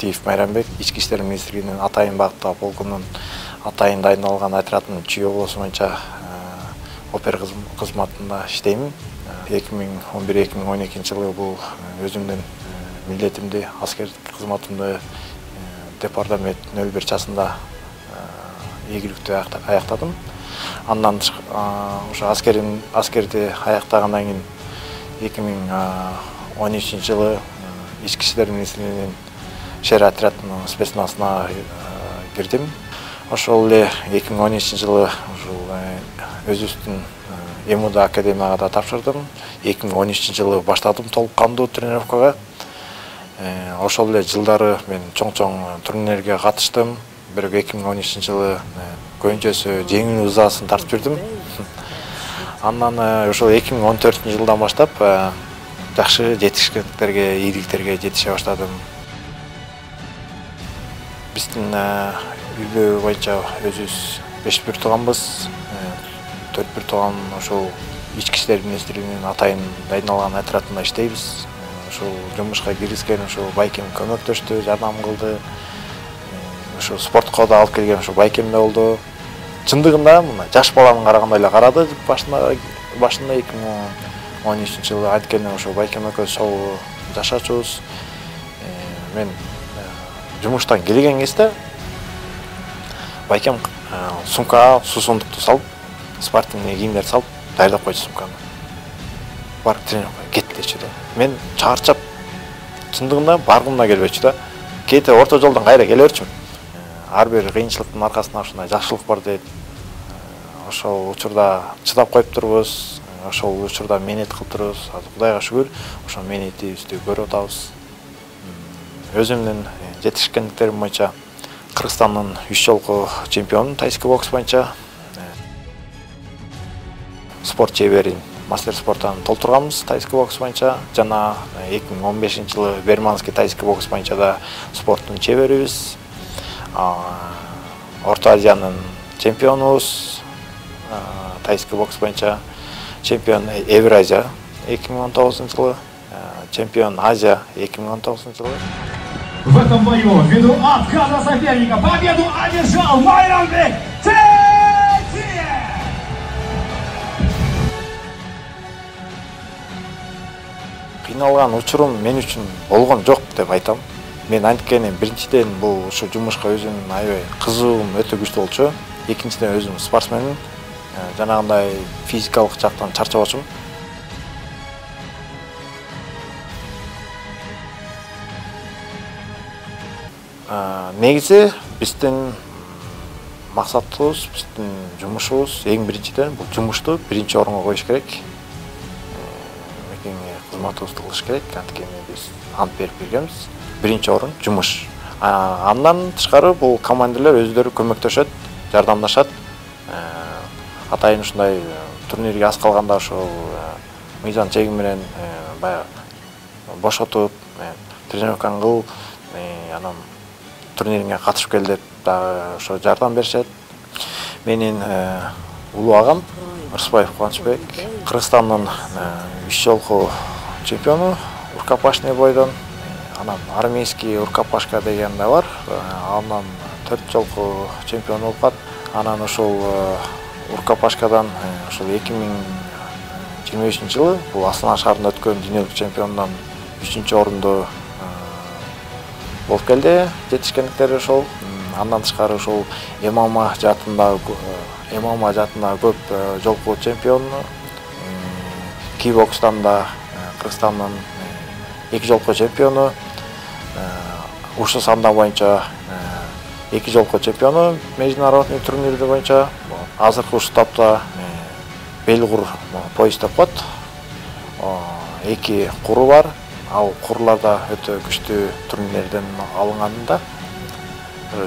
Жакиев Майрамбек, Ички иштер министрлигинин Атайын багыттагы полкунун атайын дайындалган отрядынын ЧИО болосу боюнча опер кызматында иштейм. 2011-2012 жылы бул өзүмдүн милдетимди, аскердик кызматымды департамент 01 часында ийгиликтүү аяктадым. Андан ошо аскерди аяктагандан кийин 2013 жылы Ички иштер министрлигинин шер отрядынын спецназына кирдим. Ошол эле 2013 жылы өзүбүздүн МУД академияга да тапшырдым. 2013 жылы баштадым толук кандуу тренировкага. Ошол эле жылдары мен чоң турнирлерге катыштым. Бирок 2013 жылы көбүнчөсү жеңил ызасын тартып жүрдүм. Андан ошол 2014 жылдан баштап жакшы жетишкендиктерге, ийгиликтерге жетише баштадым. Биздин үйбө боюнча өзүбүз 5 бир тууганбыз. 4 бир тууган ошол Ички иштер министрлигинин атайын дайындалган отрядында иштейбиз. Ошол жумушка киргизген ошол Байкем көмөктөштү, жардам кылды. Ошо спортко да алып келген ошо Байкем да болду. Чындыгында мына жаш баланын карагандай эле карады башында 2013 жылы анткени ошо Байкем экөөбүз чогуу жашачубуз. Мен жумуштан келген кезде Байкем сумкага суусундукту салып, спортивный кийимдерди салып даярдап койчу сумканы. Барып тренировкага кет дечү да. Мен чарчап, чындыгында баргым да келбечү да. Кете орто жолдон кайра келе берчүмүн. Ар бир кыйынчылыктын аркасында ушундай жакшылык бар дейт. Ошол учурда чыдап коюп турбуз. Ошол учурда мээнет кылып турбуз. Кудайга шүгүр, ошол мээнетибизди көрүп атабыз. Өзүмдүн жетишкендиктерим боюнча Кыргызстандын 3 жолку чемпиону тайский бокс боюнча. Спорт чеберин мастер спорттан толтурганбыз тайский бокс боюнча. Жана 2015 жылы Берманский тайский бокс боюнча да спорттун чеберибиз. Орто Азиянын чемпионубуз. Тайский бокс боюнча чемпион Евразия 2019 жылы, чемпион Азия 2019 жылы. В этом бою, ввиду отказа соперника, победу одержал Майрамбек Тетиев! Кыйналган учурум мен үчүн болгон жок деп айтам. Мен анткени биринчиден бул ушу жумушка өзүм аябай кызыгуум өтө күчтүү болчу. Экинчиден өзүм спортсменмин. Жанагындай физикалык жактан чарчабачумун. Негизи биздин максатыбыз, биздин жумушубуз эң биринчиден бул жумушту биринчи орунга коюш керек. Кызматыбызды кылыш керек. Анткени биз ант берип келгенбиз. Биринчи орун жумуш. Андан тышкары бул командирлер өздөрү көмөктөшөт, жардамдашат. Атайын ушундай турнирге аз калганда ошол мыйзам чеги менен баягы бошотуп, тренировканы кыл, анан турнириңе катышып кел деп дагы ошо жардам беришет. Менин улуу агам Рысбаев Кубанычбек, Кыргызстандын 3 жолку чемпиону рукопашный бойдон. Анан армейский рукопашка деген да бар. Андан 4 жолку чемпион болуп калат. Анан ошол рукопашкадан ошол 2023 жылы бул Астана шаарында өткөн дүйнөлүк чемпиондон 3-орунду болуп келди. Жетишкендиктери ошол. Андан тышкары ошол ММА жаатында көп жолку чемпион. Кикбокстан да Кыргызстандын 2 жолку чемпиону. Ушу санда боюнча 2 жолку чемпиону международный турнирде боюнча. Азыркы ушу тапта Белгур пояс деп коет. 2 куру бар. Ал курларда өтө күчтүү турнирлерден алынганда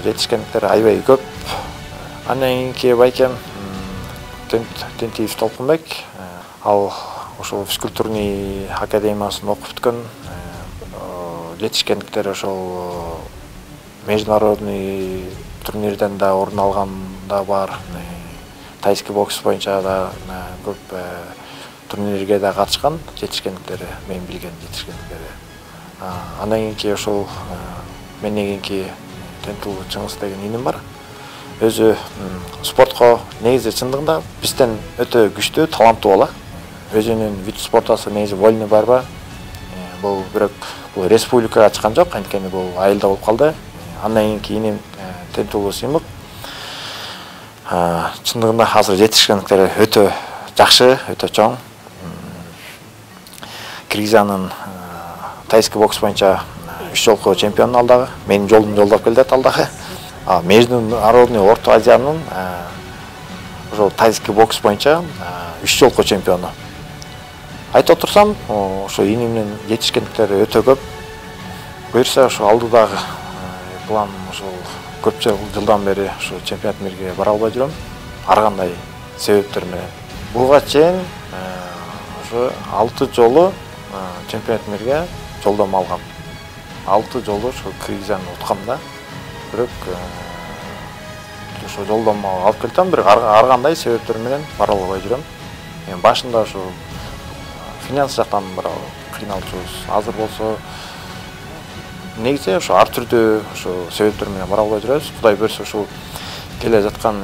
жетишкендиктер аябай көп. Андан кийин Байкем Тентиев Толкунбек. Ал ошол физкультурный академиясын окуп бүткөн. Жетишкендиктер ошол международный турнирден да орун алган да бар. Тайский бокс боюнча да көп турнирге да катышкан жетишкендиктери, мен билген жетишкендиктери. Андан кийин ошол Менен кийинки Тентул Чыңгыз деген иним бар. Өзү спортко негизи чындыгында бизден өтө күчтүү, таланттуу бала. Өзүнүн вид спортасы негизи вольный барба. Бул бирок бул республикага чыккан жок, анткени бул айылда болуп калды. Андан кийинки иним Тентул Сыймык. Чындыгында азыр жетишкендиктери өтө жакшы, өтө чоң. Кыргызстандын тайский бокс боюнча 3 жолку чемпиону алдагы. Менин жолдум жолдоп келет алдагы. Международный Орто Азиянын ошо тайский бокс боюнча 3 жолку чемпиону. Айтып отурсам, ошо инимдин жетишкендиктери өтө көп. Буюрса ошо алдыдагы план ошол көп жылдан бери ошо чемпионат мирге бара албай жүрөм. Ар кандай себептер менен. Буга чейин ошо 6 жолу чемпионат мирге жолдомо алгам. 6 жолу ошо Кыргызстан уткам да. Бирок ошо жолдомо алып келдим, бирок ар кандай себептер менен бара албай жүрөм. Башында ошо финанс жактан бир кыйналчубуз. Азыр болсо негизи ошо ар түрдүү ошо себептер менен бара албай жүрөбүз. Кудай берсе ушул келе жаткан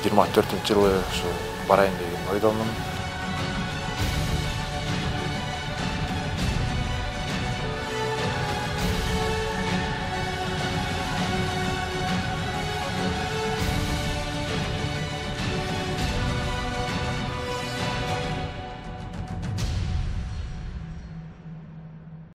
2024-жылы ошо барайын деген ойдомун.